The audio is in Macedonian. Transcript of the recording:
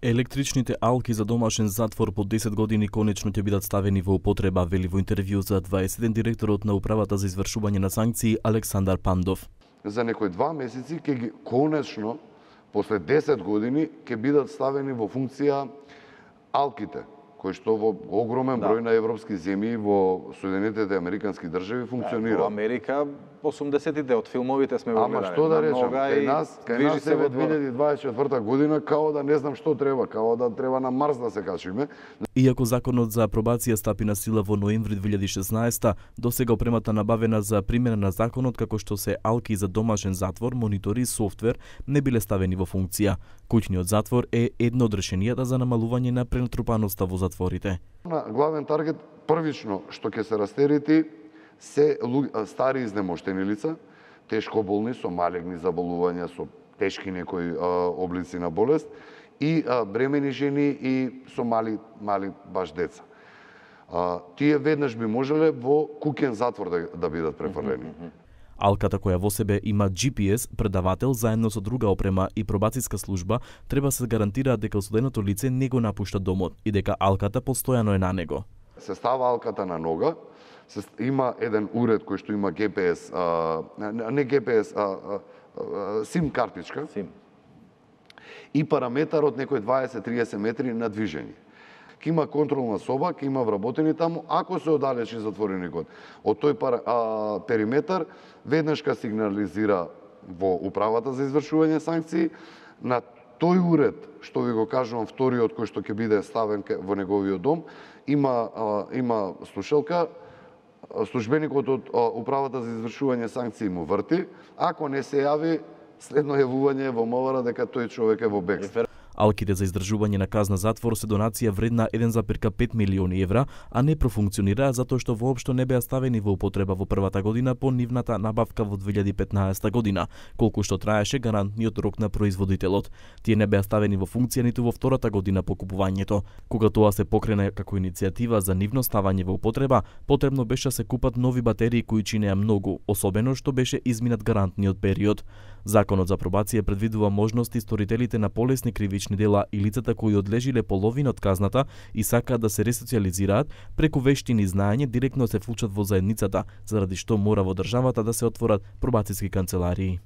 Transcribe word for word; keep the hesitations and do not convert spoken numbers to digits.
Електричните алки за домашен затвор по десет години конечно ќе бидат ставени во употреба, вели во интервју за дваесет еден директорот на Управата за извршување на санкции Александар Пандов. За некои два месеци ќе ги конечно, после десет години, ќе бидат ставени во функција алките, кои што во огромен број да. на европски земји во Соединетите американски држави функционира. Да, во Америка осумдесетите од филмовите сме го гледали. Ама што да речам, кај нас, кај нас е во две илјади дваесет и четврта година као да не знам што треба, као да треба на Марс да се качиме. Иако законот за апробација стапи на сила во ноември две илјади и шеснаесета, досега опремата набавена за примена на законот како што се алки за домашен затвор, монитори и софтвер не биле ставени во функција. Куќниот затвор е едно од решенијата за намалување на пренатрупаноста во затворите. На главен таргет првично што ќе се растерети се стари изнемоштени лица, тешко болни со малегни заболувања, со тешки некои а, облици на болест и а, бремени жени и со мали мали баш деца. А, тие веднаш би можеле во куќен затвор да, да бидат префрлени. Алката која во себе има Джи Пи Ес, предавател заедно со друга опрема и пробацијска служба, треба се гарантира дека осуденото лице не го напушта домот и дека алката постојано е на него. Се става алката на нога, се, има еден уред кој што има Ге Пе Ес, а, не Ге Пе Ес, а, а, а, сим картичка. Сим. И параметар од некои дваесет до триесет метри на движење. Ке има контролна соба, ке има вработени таму, ако се оддалечи затвореникот од тој пар, а, периметар, веднаш ка сигнализира во Управата за извршување санкции, на тој уред, што ви го кажувам, вториот кој што ќе биде ставен во неговиот дом, има, а, има слушалка, службеникот од Управата за извршување санкции му врти, ако не се јави следно јавување во МВР дека тој човек е во бегство. Алките за издржување на казна затвор се донација вредна еден зарез пет милиони евра, а не профункционираа затоа што воопшто не беа ставени во употреба во првата година по нивната набавка во две илјади и петнаесета година, колку што траеше гарантниот рок на производителот. Тие не беа ставени во функција ниту во втората година по купувањето. Кога тоа се покрена како иницијатива за нивно ставање во употреба, потребно беше да се купат нови батерии кои чинеа многу, особено што беше изминат гарантниот период. Законот за пробација предвидува можности сторителите на полесни кривични дела и лицата кои одлежиле половина од казната и сакаат да се ресоциализираат преку вештини и знаење директно се вклучат во заедницата, заради што мора во државата да се отворат пробацијски канцеларии.